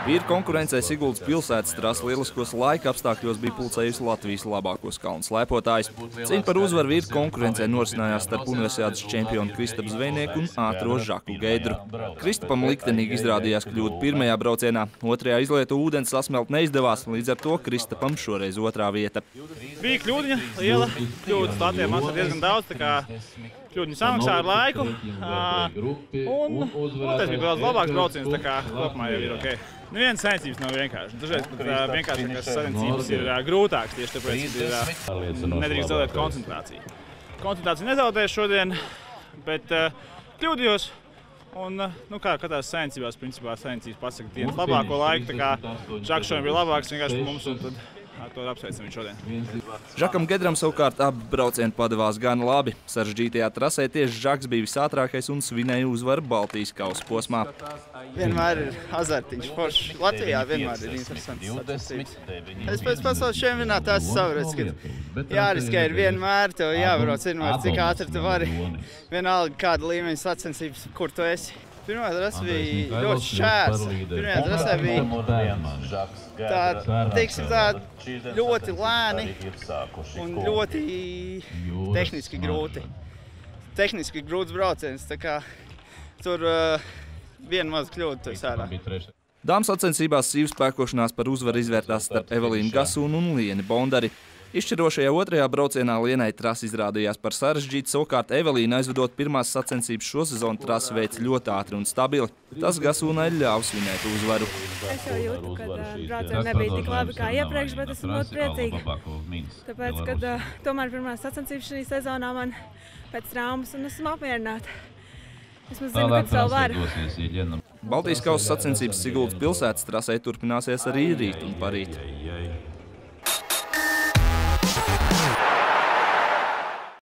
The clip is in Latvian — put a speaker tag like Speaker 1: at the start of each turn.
Speaker 1: Vīru konkurencē Siguldas pilsētas trasa lieliskos laika apstākļos bija pulcējusi Latvijas labākos kalnu slēpotājus. Cīņa par uzvaru vīru konkurencē norisinājās starp universitātes čempionu Kristapu Zvejnieku un ātro Žaku Geidru. Kristapam liktenīgi izrādījās kļūt pirmajā braucienā, otrajā izlietu ūdens sasmelt neizdevās, līdz ar to Kristapam šoreiz otrā vieta.
Speaker 2: Bija kļūdiņa liela, kļūdas Latvijā mums ir diezgan daudz, tā kā kļūdiņa samaksā ar laiku. Un tas bija daudz labāks brauciens, tā kā kopumā jau ir ok. Nevienas sacensības nav vienkārši. Dažreiz pat vienkāršākās sacensības ir grūtākas, tieši tāpēc, ka nedrīkst zaudēt koncentrāciju. Koncentrāciju nezaudēju šodien, bet kļūdījos. Un, kā katrās sacensībās, principā sacensības pasaka dienas labāko laiku, tā kā Žaks šodien bija labāks vienkārši par mums, un tad ar to apsveicam viņu šodien.
Speaker 1: Žakam Geidram savukārt abi braucieni padevās gan labi. Sarežģītajā trasē tieši Žaks bija visātrākais un svinēja uzvaru Baltijas kausa posmā.
Speaker 3: Vienmēr ir azartiņš foršs. Latvijā vienmēr ir interesants sacensības. Es pēc pasaules čempionāta esmu sapratis, ka jāriskē ir vienmēr, tev jābrauc vienmēr, cik ātri tu vari. Vienalga kāda līmeņa sacensības, kur tu esi. Pirmā trasa bija ļoti šķērsa. Pirmajā trasē bija ļoti lēni un ļoti tehniski grūti. Tehniski grūts brauciens, tā kā tur viena maza kļūda tu esi ārā.
Speaker 1: Dāmas sacensībās sīvu spēkošanās par uzvaru izvērtās starp Evelīnu Gasūnu un Lieni Bondari. Izšķirošajā otrajā braucienā Lienai trasa izrādījās par sarežģītu, savukārt Evelīna aizvedot pirmās sacensības šo sezonu trasi veica ļoti ātri un stabili. Tas Gasūnai ļāva svinēt uzvaru.
Speaker 4: Es jau jūtu, ka braucieni nebija tik labi kā iepriekš, bet esmu ļoti priecīga. Tāpēc, kad tomēr pirmās sacensības šī sezonā man pēc traumas un esmu apmierināta. Es zinu, ka savu varu.
Speaker 1: Baltijas kausa sacensības Siguldas pilsētas trasē turpināsies arī rīt un parīt.